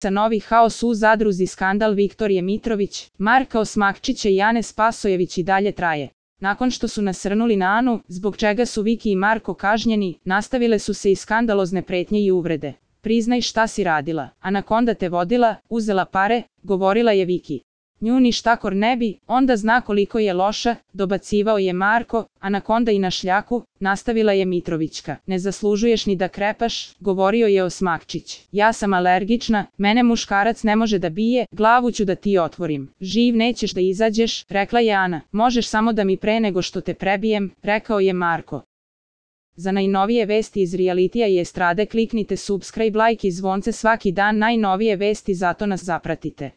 Novi haos u zadruzi, skandal Viktorije Mitrović, Marka Osmakčića i Ane Spasojević i dalje traje. Nakon što su nasrnuli na Anu, zbog čega su Viki i Marko kažnjeni, nastavile su se i skandalozne pretnje i uvrede. Priznaj šta si radila. Anakonda te vodila, uzela pare, govorila je Viki. Nju ništakor ne bi, onda zna koliko je loša, dobacivao je Marko. Anakonda i na šljaku, nastavila je Mitrovićka. Ne zaslužuješ ni da krepaš, govorio je Osmakčić. Ja sam alergična, mene muškarac ne može da bije, glavu ću da ti otvorim. Živ nećeš da izađeš, rekla je Ana. Možeš samo da mi pre nego što te prebijem, rekao je Marko. Za najnovije vesti iz realitija i estrade kliknite subscribe, like i zvonce svaki dan, najnovije vesti, zato nas zapratite.